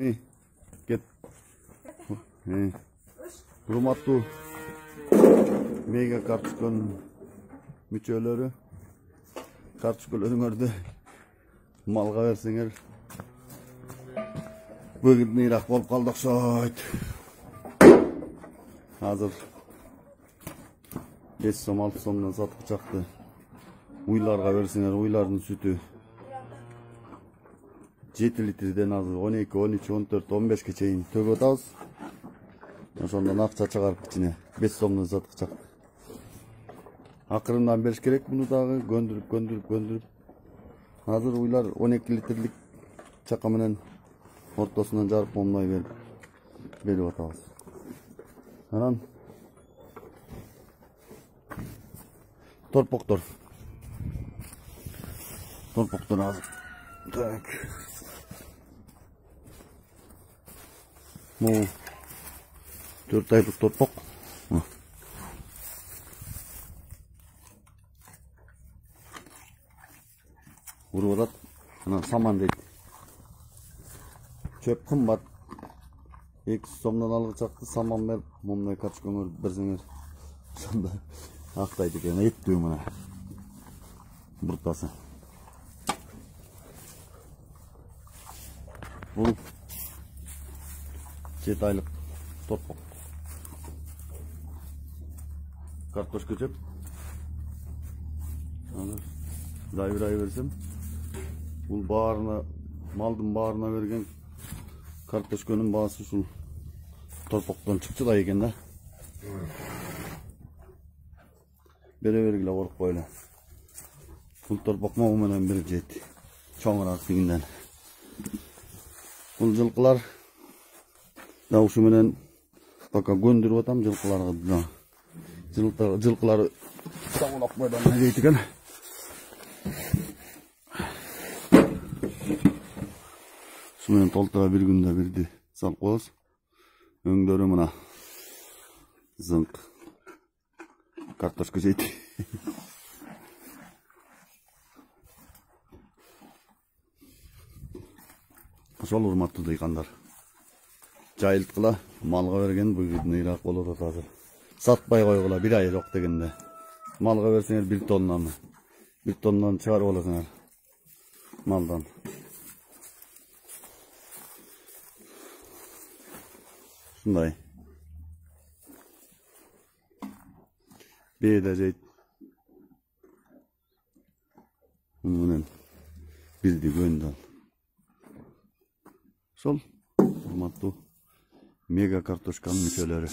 Кет. Урматтуу мега карточканын мүчөлөрү, карточкаларыңарды малга берсеңер бөгүндүнүрак болуп калды окшойт. Азыр 5 сом 6 сомдон сатып чакты. Уйларга берсеңер, уйлардын сүтү 7 литрден азыр 12, 13, 14, 15ке чейин төгүп атабыз. Ошондон акча чыгарып кичине 5 сомдон сатып чакты. Акырындан бериш керек муну дагы көндүрүп. Азыр уйлар 12 литрлик чака менен ортосунан жарып момной берип атабыз. Анан торпоктор азыр. Так. Бул 4 айлык торпок. Уруп атат. Анан саман дейт. Чөп кымбат. 2 сомдон алгы чакты саман берип, момундай карточкаңар берсеңер, ошондо актайт экен. Эттүү мына. Буртасы. Бул 7 айлык торпок. Картошка жеп. Дайбырай берсем, бул баарына, малдын баарына берген картошканын баасы ушул торпоктон чыкчыдай экен да. Бере бергиле коркпой эле. Бул торпок могу менен бир жейт. Чоңураак тигинден. Бул жылкылар да ушу менен пока көндүрүп атам жылкыларга. Жылкылар саңылап койдон дейт экен. Şu menен толтура bir күндө бирди салып коебуз. Өңдөрү мына зыңк картошка жейт. Ошол урматтуу дыйкандар. Жайылткыла малга берген бүгүнүрак болуп атат азыр. Сатпай койгула, bir ай жок дегенде. Малга берсеңер 1 тоннаны. 1 тоннаны чыгарып аласыңар малдан. Шундай. Бейде жейт. Мунун бирди көндөн. Сол урматтуу мега картошканын мүчөлөрү.